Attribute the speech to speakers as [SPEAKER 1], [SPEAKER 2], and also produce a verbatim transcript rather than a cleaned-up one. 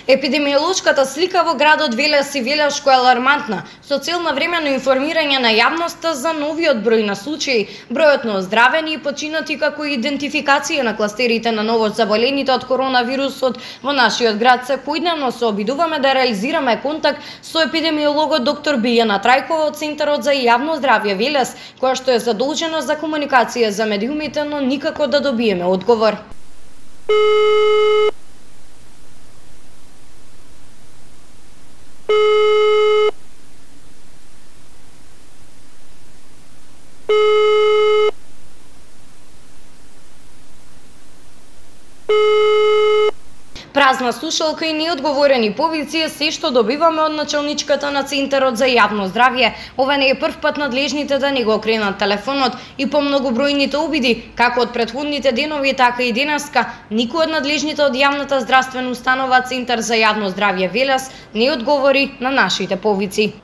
[SPEAKER 1] Епидемиолошката слика во градот Велес и Велешко е алармантна, со цел на времено информирање на јавноста за новиот број на случаи, бројот на оздравени и починати, како и идентификација на кластерите на новозаболените од коронавирусот во нашиот град. Секојдневно се обидуваме да реализираме контакт со епидемиологот доктор Билјана Трајкова од Центарот за јавно здравје Велес, која што е задолжена за комуникација за медиумите, но никако да добиеме одговор. Празна слушалка и неодговорени повици е се што добиваме од началничката на Центарот за јавно здравје. Ова не е прв пат надлежните да не го окренат телефонот и по многобројните обиди, како од претходните денови, така и денеска, никој од надлежните од јавната здравствена установа Центар за јавно здравје Велес не одговори на нашите повици.